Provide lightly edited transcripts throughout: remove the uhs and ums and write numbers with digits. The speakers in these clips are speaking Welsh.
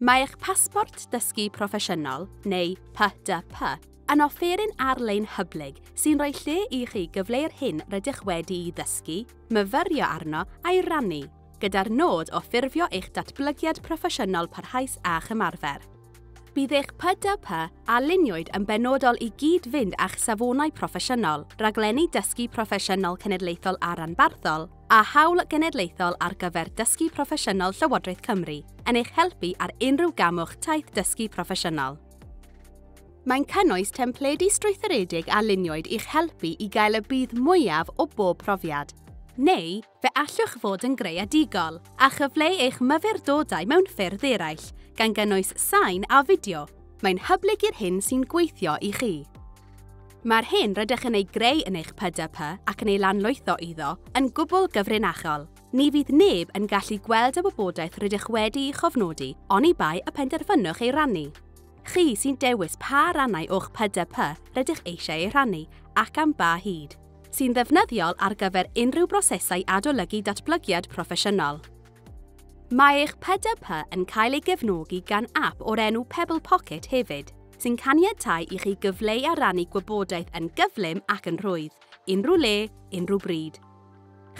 Mae eich pasbort dysgu proffesiynol, neu PDP, yn offeryn ar-lein hyblyg sy'n rhoi lle i chi gyfleu'r hyn rydych wedi'i ddysgu, myfyrio arno a'i rannu, gyda'r nod o ffurfio eich datblygiad proffesiynol parhaus a'ch ymarfer. Bydd eich PDP a luniwyd yn benodol i gyd-fynd â'ch safonau proffesiynol, rhaglenni dysgu proffesiynol cenedlaethol a rhanbarthol, a hawl genedlaethol ar gyfer dysgu proffesiynol Llywodraeth Cymru, yn eich helpu ar unrhyw gam o'ch taith dysgu proffesiynol. Mae'n cynnwys templedi strwythuredig a luniwyd i'ch helpu i gael y budd mwyaf o bob profiad. Neu, fe allwch fod yn greadigol a chyfleu eich myfyrdodau mewn ffyrdd eraill, gan gynnwys sain a fideo. Mae'n hyblyg i'r hyn sy'n gweithio i chi. Mae'r hyn rydych yn ei greu yn eich PDP ac yn ei lanlwytho iddo yn gwbl gyfrinachol. Ni fydd neb yn gallu gweld y wybodaeth rydych wedi'i chofnodi, oni bai y penderfynwch ei rannu. Chi sy'n dewis pa rannau o'ch PDP rydych eisiau ei rhannu ac am ba hyd, sy'n ddefnyddiol ar gyfer unrhyw brosesau adolygu datblygiad proffesiynol. Mae eich PDP yn cael ei gefnogi gan app o'r enw Pebble Pocket hefyd, sy'n caniatáu i chi gyfleu a rannu gwybodaeth yn gyflym ac yn rhwydd, unrhyw le, unrhyw bryd.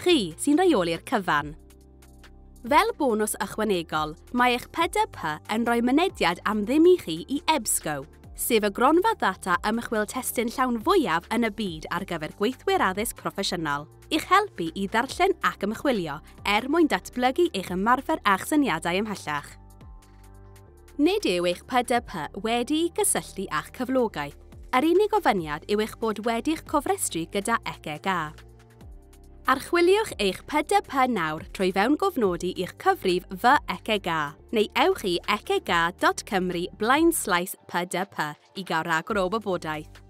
Chi sy'n rheoli'r cyfan. Fel bonws ychwanegol, mae eich PDP yn rhoi mynediad am ddim i chi i EBSCO, sef y gronfa ddata ymchwil testun llawn fwyaf yn y byd ar gyfer gweithwyr addysg proffesiynol, i'ch helpu i ddarllen ac ymchwilio er mwyn datblygu eich ymarfer a'ch syniadau ymhellach. Nid yw eich PDP wedi'i gysylltu â'ch cyflogaeth. Yr unig ofyniad yw eich bod wedi'ch cofrestru gyda ECGA. Archwiliwch eich PDP nawr trwy fewngofnodi i'ch cyfrif Fy ECGA neu ewch i ecga.cymru/pdp i gael rhagor o wybodaeth.